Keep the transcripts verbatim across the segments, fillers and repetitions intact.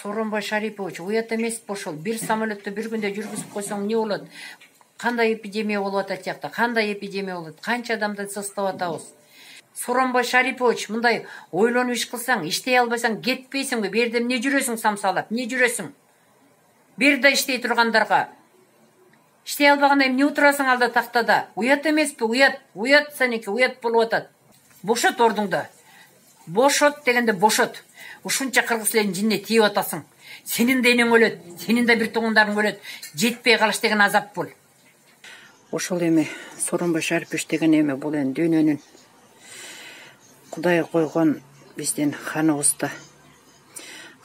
Сооронбай Шарипович, уят эмеспи ошол? Бир самолетто бир күндө жүргүзүп койсоң эмне болот? Кандай эпидемия болуп атат жакта? Кандай эпидемия болот? Канча адамды состап атабыз? Сооронбай Шарипович, мындай ойлонуп иш кылсаң, иштей албасаң кетпейсиңби? Бу жерде эмне жүрөсүң самсалап? Эмне жүрөсүң? Бир да иштей тургандарга. Иштей албаганда эмне отурасың алда тактада? Уят эмеспи? Уят, уят сеники, уят болуп атат. Бошот ордуңда. Бошот дегенде бошот. Ушунча кыргыз элинин жинине тийип атасың. Сенин да энең өлөт, сенин да бир туугандарың өлөт. Жетпей калыш деген азап бул. Ошол эми Сооронбай Шарипович деген эми бул эми дүйнөнүн Кудай койгон биздин ханыбызда.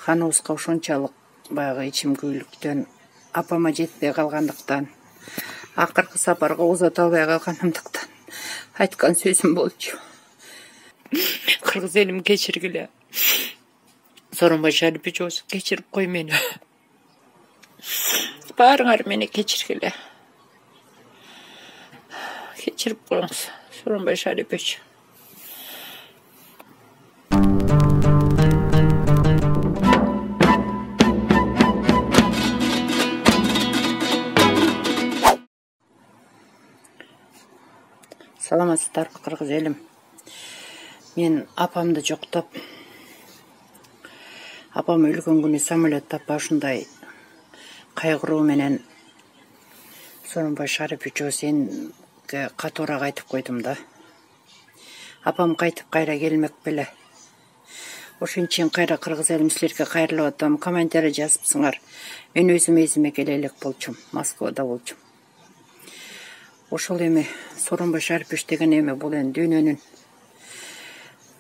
Ханыбызга ошончалык баягы ичимгүүлүктөн апама жетпей калгандыктан, акыркы сапарга узата албай калганымдыктан айткан сөзүм болчу. Кыргыз элим кечиргиле. Сооронбай Шарипович, кечирип кой мени. Баарыңар мени кечиргиле. Кечирип коюңуз, Сооронбай Шарипович. Саламатсыздарбы, кыргыз элим. Мен апамды жоктоп, апам өлгөн күнү самолетто ушундай кайгыруу менен Сооронбай Шарипович сенге катуураак айтып койдум да. Апам кайтып кайра келмек беле. Ошон үчүн кайра кыргыз элим силерге кайрылып атам. Комментарий жазыпсыңар. Мен өзүм эзиме келе элек болчумун, Москвада болчумун. Ошол эми Сооронбай Шарипович деген эми бул эми дүйнөнүн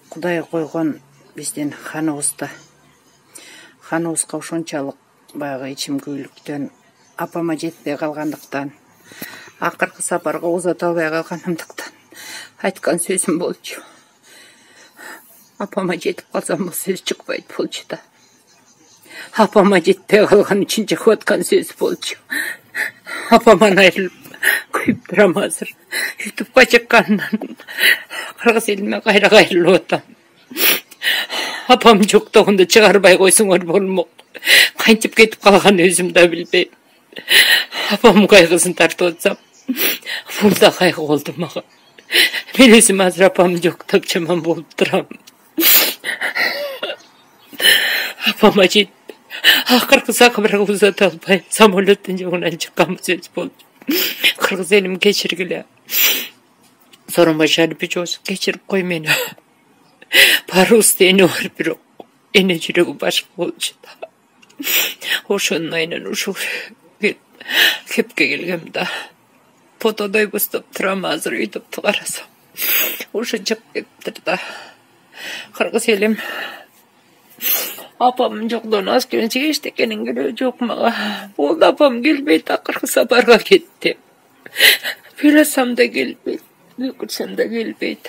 Кудай койгон биздин ханыбызда. Ханыбызга ошончалык баягы ичимгүүлүктөн апама жетпей калгандыктан, акыркы сапарга узата албай калганымдыктан айткан сөзүм болчу. Апама жетип калсам бул сөз чыкпайт болчу да. Апама жетпей калган үчүн чыгып аткан сөз болчу. Апаман айрылып күйүп турам азыр. Ютубка чыккандан кыргыз элиме кайра кайрылып атам. Апам жоктогунду чыгарбай койсоңор болмок. Кантип кетип калганын өзүм да билбейм. Апам кайгысын тартып атсам, бул да кайгы болду мага. Мен өзүм азыр апамды жоктоп жаман болуп турам. Апама жетпей, акыркы сапарга узата албай самолеттин жогунан чыккан сөз болду. Кыргыз элим кечиргиле. Сооронбай Шарипович, кечирип кой мени. Баарыбызда эне бар, бирок эне жүрөгү башка болчу да. Ошонун айынан ушул кепке келгем да. Фотодой бустап турам азыр Ютубту карасам. Ошо чыгып кетиптир да. Кыргыз элим. Апам жокдон аскеринче эчтекенин кереги жок мага. Болду, апам келбейт, акыркы сапарга кетти. Билесем да келбейт, өкүрсөм да келбейт.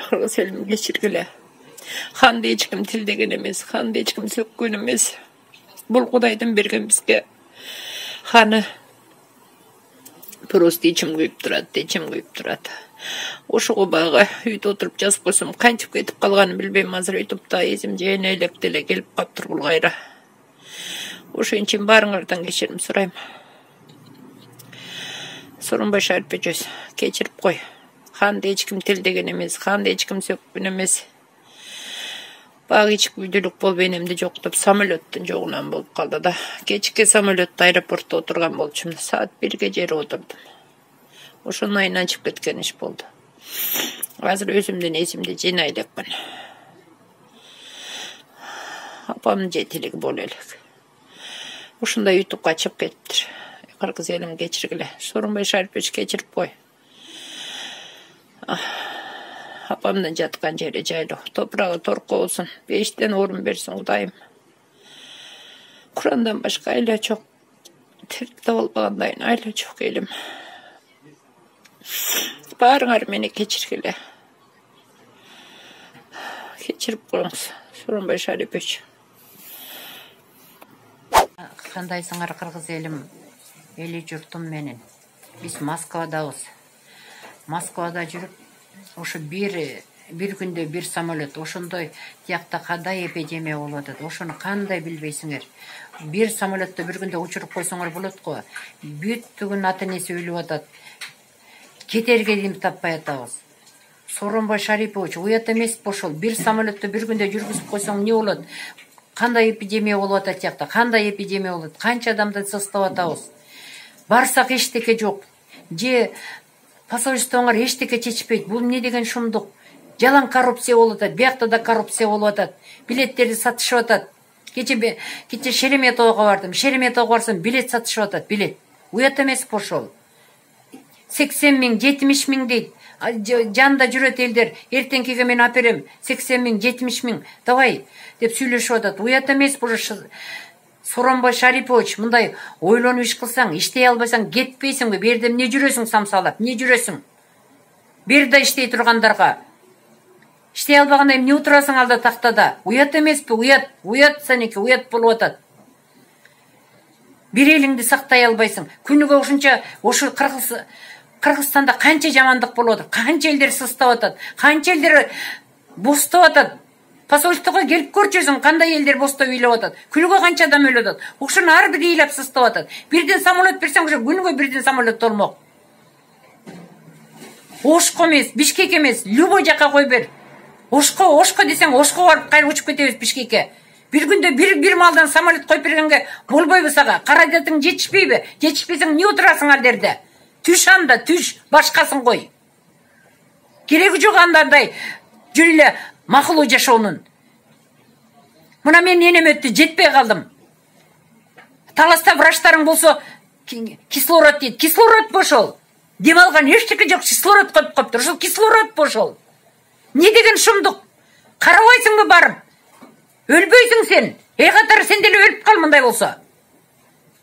Кыргыз элим кечиргиле. Ханды эч ким тилдеген эмес, ханды эч ким сөккөн эмес. Бул Кудайдын берген бизге ханы. Просто ичим күйүп турат, ичим күйүп турат. Ошого баягы үйдө отуруп жазып койсом, кантип кетип калганын билбейм. Азыр Ютубта эсим жайына элек деле келип калыптыр бул кайра. Ошон үчүн баарыңардан кечирим сурайм. Сооронбай Шарипович, кечирип кой. Ханды эч ким тилдеген эмес, ханды эч ким сөккөн эмес. Багы ичкүдүлүк болуп энемди жоктоп самолеттин жогунан болуп калды да. Кечки самолетто аэропортто отурган болчумун. Саат бирге жери отурдум. Ошонун айынан чыгып кеткен иш болду. Азыр өзүмдүн эсимди жыйнай элекмин. Апамдын жетилиги боло элек. Ушундай Ютубка чыгып кетиптир. Кыргыз элим кечиргиле. Сооронбай Шарипович, кечирип кой. Апамдын жаткан жери жайлуу. Топурагы торко болсун. Бештен орун берсин Кудайым. Курандан башка айла жок. Тирикте болбагандайын айла жок элим. Баарыңар мени кечиргиле. Кечирип коюңуз, Сооронбай Шарипович. Кандайсыңар кыргыз элим, эли журтум менен. Биз Москвадабыз. Москвада жүрүп, ошо бир бир күндө бир самолет ошондой тиякта кандай эпидемия болуп атат, ошону кандай билбейсиңер. Бир самолетто бир күндө учуруп койсоңор болот го. Бүттүгүн ата энеси өлүп атат. Кетерге дем таппай атабыз. Сооронбай Шарипович, уят эмеспи ошол? Бир самолетто бир күндө жүргүзүп койсоң эмне болот? Кандай эпидемия болуп атат тиякта? Кандай эпидемия болот? Канча адамды сыстап атабыз? Барсак эчтеке жок. Же посольствоңор эчтеке чечпейт. Бул эмне деген шумдук? Жалаң коррупция болуп атат. Биякта да коррупция болуп атат. Билеттерди сатышып атат. Кече кече Шереметовго бардым. Шереметовго барсам билет сатышып атат, билет. Уят эмеспи ошол? сексен миң, жетимиш миң дейт. Жанында жүрөт элдер. Эртеңкиге мен аперем. сексен миң, жетимиш миң. Давай деп сүйлөшүп атат. Уят эмеспи ошо? Сооронбай Шарипович, мындай ойлонуп иш кылсаң, иштей албасаң кетпейсиңби? Бу жерде эмне жүрөсүң самсалап? Эмне жүрөсүң? Бир да иштей тургандарга. Иштей албаганда эмне отурасың алда тактада? Уят эмеспи? Уят, уят сеники, уят болуп атат. Бир элиңди сактай албайсың. Күнүгө ушунча ошо Кыргыз Кыргызстанда канча жамандык болуп атат? Канча элдер сыстап атат? Канча элдер бостоп атат? Посольствого келип көрчүсүң, кандай элдер бостоп ыйлап атат? Күнүгө канча адам өлүп атат? Ошону ар бир ыйлап сыстап атат. Бирден самолет берсең, ошо күнүгө бирден самолет толмок. Ошко эмес, Бишкек эмес, любой жака кой бер. Ошко, Ошко десең, Ошко барып кайра учуп кетебиз Бишкекке. Бир күндө бир бир малдан самолет койуп бергенге болбойбу сага? Каражатың жетишпейби? Жетишпесең эмне отурасың ал жерде? Түш анда, түш, башкасын кой. Кереги жок андандай жүрүп эле макулуу жашоонун. Мына мен энем өттү, жетпей калдым. Таласта врачтарың болсо кислород дейт. Кислород бу ошол. Дем алган эчтеке жок, кислород коюп коюптур. Ошол кислород бу ошол. Не деген шумдук? Карабайсыңбы барып? Өлбөйсүң сен. Эй катары сен деле өлүп кал мындай болсо.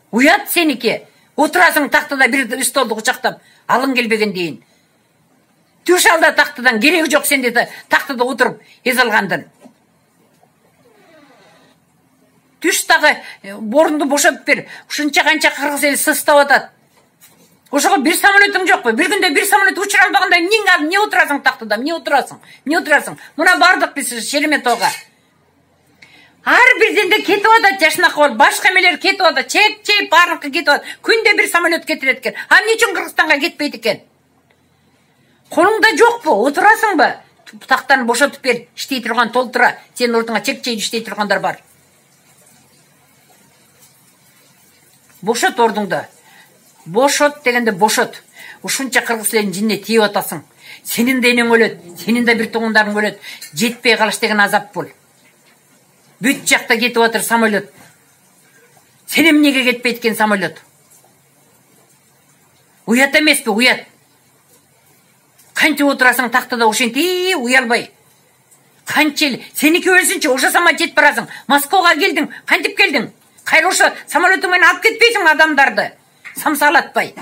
Уят сеники. Отурасың тактада бир столду кучактап, алың келбеген дейин. Түш алда тактадан, кереги жок сенде тактада отуруп эз алгандын. Түш дагы орунду бошотуп бер. Ушунча канча кыргыз эл сыстап атат. Ошого бир самолетиң жокпу? Бир күндө бир самолет учура албаганда эмне эмне отурасың тактада? Эмне отурасың? Эмне отурасың? Мына бардык биз Шереметовго. Ар бирден де кетип атат жашынакы болуп, башка эмелер кетип атат, чек-чек баарыкы кетип атат. Күндө бир самолет кетирет экен. А эмне үчүн Кыргызстанга кетпейт экен? Колуңда жокпу? Отурасыңбы? Тактаны бошотуп бер, иштей турган толтура. Сенин ордуңа чек-чек иштей тургандар бар. Бошот ордуңду. Бошот дегенде бошот. Ушунча кыргыз элинин жинине тийип атасың. Сенин да энең өлөт, сенин да бир туугандарың өлөт. Жетпей калыш деген азап бул. Бүт жакта кетип атыр самолет. Сен эмнеге кетпейт экен самолет? Уят эмеспи? Уят. Канча отурасың тактада ошентип уялбай. Канча эл сеники өлсүнчү, ошо сама жетип барасың. Москвага келдиң, кантип келдиң? Кайра ошо самолетиң менен алып кетпейсиң адамдарды. Самсалатпай.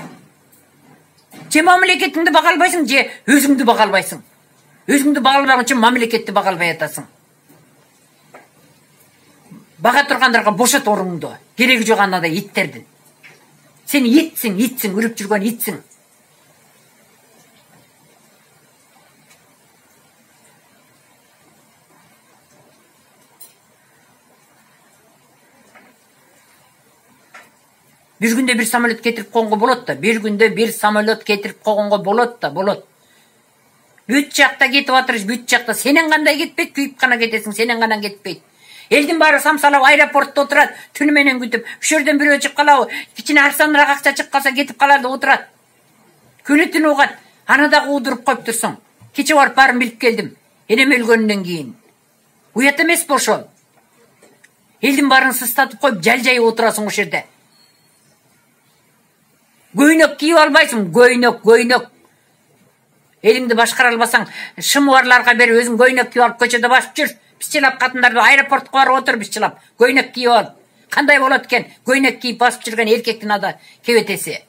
Же мамлекетиңди бага албайсың, же өзүңдү бага албайсың. Өзүңдү бага албаган үчүн мамлекетти бага албай атасың. Бага тургандарга бошот орунду. Кереги жок анандай иттердин. Сен итсиң, итсиң, үрүп жүргөн итсиң. Бир күндө бир самолет кетирип койгонго болот да, бир күндө бир самолет кетирип койгонго болот да, болот. Бүт жакта кетип атыр, бүт жакта. Сенен кандай кетпейт, күйүп гана кетесиң, сенен гана кетпейт. Элдин баары самсалап аэропортто отурат, түнү менен күтүп. Ушул жерден бирөө чыгып калабы, кичине арзаныраак акча чыгып калса кетип калат да отурат. Күнү түнү угат, аны дагы удуруп коюп турсуң. Кече барып баарын билип келдим. Энем өлгөндөн кийин. Уят эмеспи ошол? Элдин баарын сыстатып коюп, жалжайып отурасың ошол жерде. Көйнөк кийип албайсың, көйнөк, көйнөк. Элиңди башкара албасаң, шымыбарларга берип өзүң көйнөк кийип алып көчөдө басып жүр. Бизчилап катындарды аэропортко барып отур бизчилап. Көйнөк кийип ал. Кандай болот экен? Көйнөк кийип басып жүргөн эркектин ада кебетеси.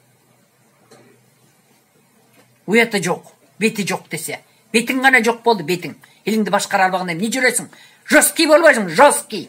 Уяты жок, бети жок десе. Бетиң гана жок болду, бетиң. Элиңди башкара албаганда эмне жүрөсүң? Жесткий болбойсуң, жесткий.